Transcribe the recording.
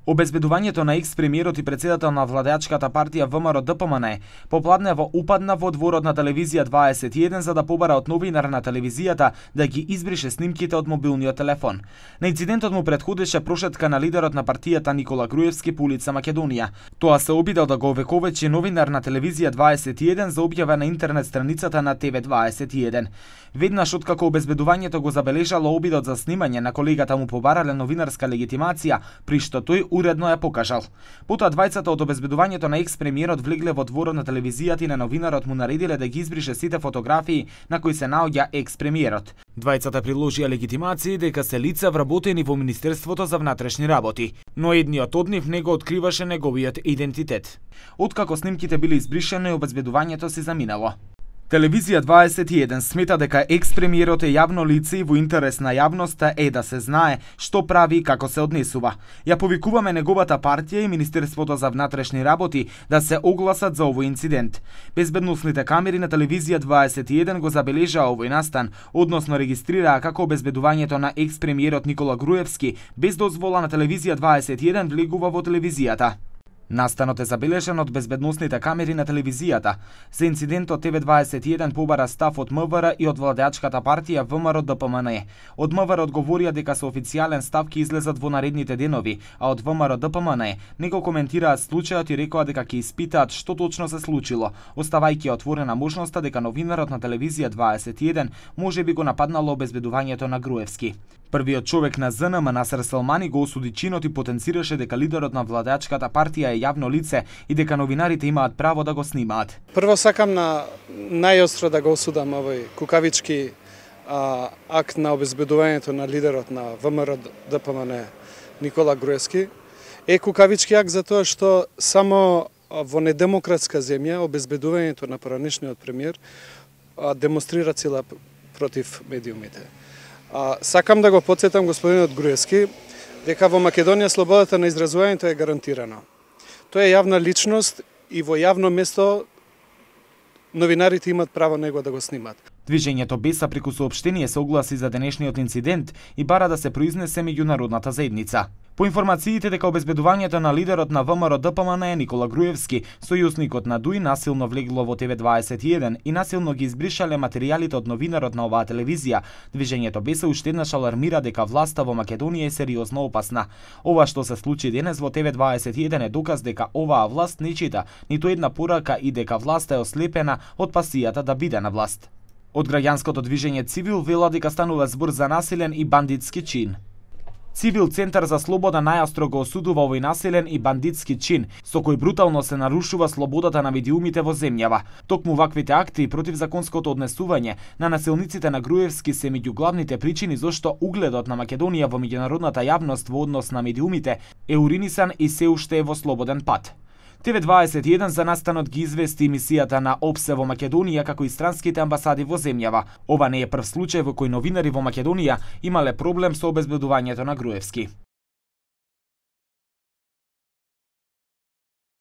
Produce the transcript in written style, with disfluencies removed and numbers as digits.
Обезбедувањето на екс-премиерот и председател на владеачката партија ВМРО-ДПМН попладнево упадна во дворот на телевизија 21 за да побара од новинар на телевизијата да ги избрише снимките од мобилниот телефон. На инцидентот му претходеше прошетка на лидерот на партијата Никола Груевски по улица Македонија. Тоа се обидел да го овековечи новинар на телевизија 21 за објава на интернет страницата на TV21. Веднаш откако обезбедувањето го забележало обидот за снимање на колегата му побарале новинарска легитимација, при што тој уредно ја покажал. Потоа двајцата од обезбедувањето на екс-премиерот влегле во дворот на телевизијата и на новинарот му наредиле да ги избрише сите фотографии на кои се наоѓа екс-премиерот. Двајцата приложија легитимации дека се лица вработени во Министерството за внатрешни работи, но едниот од нив не го откриваше неговиот идентитет. Откако снимките биле избришени, обезбедувањето се заминало. Телевизија 21 смета дека екс-премиерот е јавно лице и во интерес на јавноста е да се знае што прави и како се однесува. Ја повикуваме неговата партија и Министерството за внатрешни работи да се огласат за овој инцидент. Безбедносните камери на телевизија 21 го забележаа овој настан, односно регистрираа како обезбедувањето на екс-премиерот Никола Груевски без дозвола на телевизија 21 влегува во телевизијата. Настанот е забележан од безбедносните камери на телевизијата. За инцидентот TV21 побара став од МВР и од владеачката партија ВМРО-ДПМН. Од МВР одговорија дека со официјален став ќе излезат во наредните денови, а од ВМРО-ДПМН не го коментираат случајот и рекоа дека ќе испитаат што точно се случило, оставајќи отворена можноста дека новинарот на телевизија 21 можеби го нападнало обезбедувањето на Груевски. Првиот човек на ЗНМ Насер Селмани го осуди чинот и потенцираше дека лидерот на владеачката партија е јавно лице и дека новинарите имаат право да го снимаат. Прво сакам на најостро да го осудам овој кукавички акт на обезбедувањето на лидерот на ВМРО-ДПМН Никола Груевски. Е кукавички акт затоа што само во недемократска земја обезбедувањето на поранешниот премиер демонстрира сила против медиумите. Сакам да го потсетам господинот Груевски дека во Македонија слободата на изразувањето е гарантирана. Тој е јавна личност и во јавно место новинарите имаат право него да го снимат. Движењето Беса преку соопштение се огласи за денешниот инцидент и бара да се произнесе меѓународната заедница. По информациите дека обезбедувањето на лидерот на ВМРО-ДПМН Никола Груевски, сојузникот на ДУИ насилно влегло во TV21 и насилно ги избришале материјалите од новинарот на оваа телевизија, движењето Беса уште еднаш алармира дека власта во Македонија е сериозно опасна. Ова што се случи денес во TV21 е доказ дека оваа власт не чита ниту една порака и дека власта е ослепена од пасијата да биде на власт. Од граѓанското движење Цивил вела дека станува збор за насилен и бандитски чин. Цивил Центар за слобода најостро го осудува овој насилен и бандитски чин, со кој брутално се нарушува слободата на медиумите во земјава. Токму ваквите акти против законското однесување на насилниците на Груевски се меѓу главните причини зашто угледот на Македонија во меѓународната јавност во однос на медиумите е уринисан и се уште е во слободен пат. TV21 за настанот ги извести емисијата на ОПСЕ во Македонија како и странските амбасади во земјава. Ова не е прв случај во кој новинари во Македонија имале проблем со обезбедувањето на Груевски.